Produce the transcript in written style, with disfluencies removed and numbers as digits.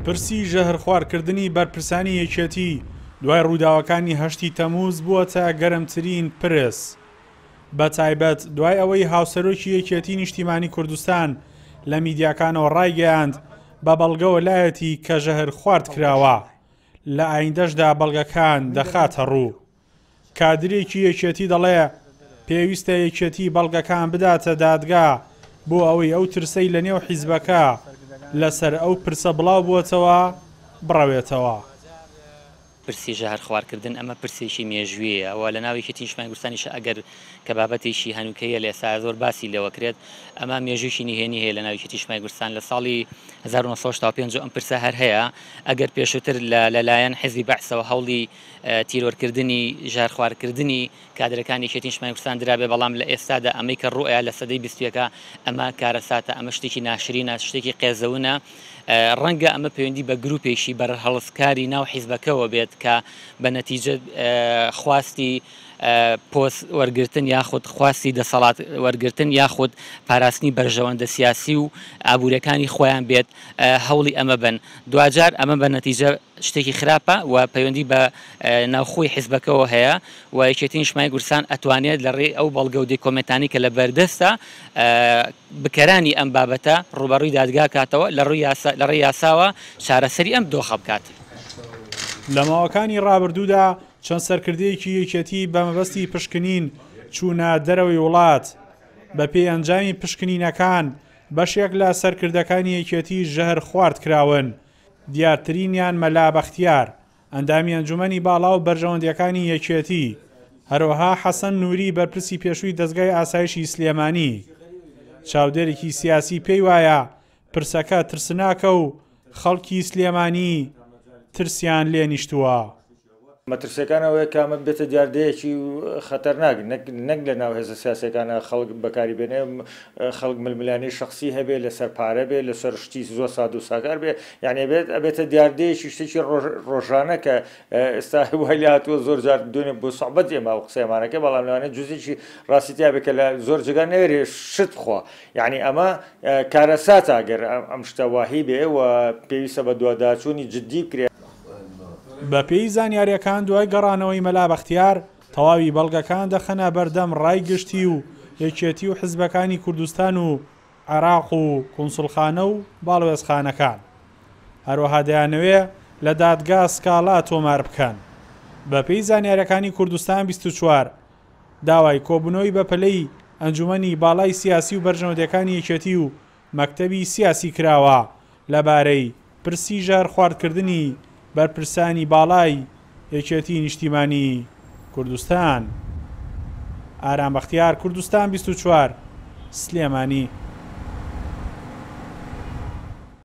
پرسی ژەهرخوارکردنی بەرپرسانی یەکێتی دوای ڕووداوەکانی هەشتی تەمووز بووەتە گەرمترین پرس، بەتایبەت دوای ئەوەی هاوسەرۆکی یەکێتی نیشتیمانی کوردستان لە میدیاکانەوە ڕایگەیاند بە بەڵگەوە لایەتی کە ژەهر خوارد کراوە، لە ئایندەشدا بەڵگەکان دەخاتە ڕوو. کادرێکی یەکێتی دەڵێ، پێویستە یەکێتی بەڵگەکان بداتە دادگا بۆ ئەوەی ئەو ترسەی لەنێو حیزبەکە لەسەر ئەو پرسە بڵاوبووەتەوە بڕەوێتەوە. پرسی ژەهرخوارکردن ئەمە پرسێکی مێژوویە و لە ناو یەکێتی نیشتمانی کوردستانیش ئەگەر کە بابەتێکی هەنووکەیە لە ئێستا زۆر باسی لێوە کرێت، ئەمە مێژوویەکی نهێنی هەیە لە ناو یەکێتی نیشتمانی کوردستان لە ساڵی 1965 ئەم پرسە هەر هەیە. ئەگەر پێشووتر لەلایەن حیزبی بەعسەوە هەوڵی تیرۆرکردنی ژەهرخوارکردنی کادرەکانی یەکێتی نیشتمانی کوردستان درابێ، بەڵام لە ئێستادا ئەمەی کە ڕووئەیا لە سەدەی 21 ئەمە کارەساتە، ئەمە شتێکی ناشرینە، شتێکی قێزەونە. ڕەنگە ئەمە پەیوەندی بە گروپێکی بەرهەڵستکاری ناو حیزبەکەوە بێت کە بە نەتیجە خواستی پۆست وەرگرتن یاخود خواستی دەسەڵات وەرگرتن یاخود پاراستنی بەرژەوەندە سیاسی و ئابووریەکانی خۆیان بێت هەوڵی ئەمە بن. دواجار ئەمە بە نەتیجە شتێکی خراپە و پەیوەندی بە ناوخۆی حیزبەکەوە هەیە و یەکێتی نیشتمانی کوردستان ئەتوانێت لە ڕێی ئەو بەڵگە و دیکۆمێنتانەی کە لە بەردەستە بکەرانی ئەم بابەتە ڕووبەڕووی دادگا کاتەوە لە ڕووی یاسا لە ڕێی یاساوە چارەسەری ئەم دۆخە بکات. لە ماوەکانی ڕابردوودا چەند سەرکردەیەکی یەکێتی بە مەبەستی پشکنین چوونە دەرەوەی وڵات، بەپێی ئەنجامی پشکنینەکان بەشێک لە سەرکردەکانی یەکێتی ژەهر خوارد کراون، دیارترینیان مەلا بەختیار، ئەندامی ئەنجومەنی باڵا و بەرژەوەندییەکانی یەکێتی، هەروەها حەسەن نوری بەرپرسی پێشووی دەزگای ئاسایشی سلێمانی. چاودێرێکی سیاسی پێی وایە پرسەکە ترسناکە و خەڵکی سلێمانی ترسیان لێ نیشتووە. مەترسیەکان ئەوەیە کە ئەمە ببێتە دیاردەیەکی خەتەرناک نەک نەک لە ناو هێزە سیاسیەکانە خەڵک بەکاری بێنێ خەڵک ململانێی شەخسی هەبێ لەسەر پارە بێ لەسەر شتی زۆر ساد و ساکار بێ یعنی ئەبێت ئەبێتە دیاردەیەکی شتێکی ڕۆژانە کە ئێستا وای لێ هاتووە زۆر جار دوێنێ بۆ سوعبەت ئێمە ئەو قسەیەمانەکە بەڵام لەوانەیە جزێکی ڕاستی تیا بێ کە لە زۆر جێگا نەوێرێ شت بخوا یعنی ئەمە کارەساتە گەر ئەم شتە واهی بێ و پێویستە بە دواداچوونی جدی بکرێ. بەپێی زانیارییەکان دوای گەڕانەوەی مەلا بەختیار، تەواوی بەڵگەکان دەخەنە بەردەم ڕای گشتی و یەکێتی و حزبەکانی کوردستان و عێراق و کونسوڵخانە و باڵوێزخانەکان. هەروەها دەیانەوێ لە دادگا سکاڵا تۆمار بکەن. بەپێی زانیارییەکانی کوردستان 24، داوای کۆبوونەوەی بەپەلەی ئەنجومەنی باڵای سیاسی و بەرژەوەندییەکانی یەکێتی و مەکتەبی سیاسی کراوە لەبارەی پرسی ژەهرخواردکردنی بەرپرسانی باڵای یەکێتی نیشتیمانی کوردستان. ئارام بەختیار، کوردستان 24، سلێمانی.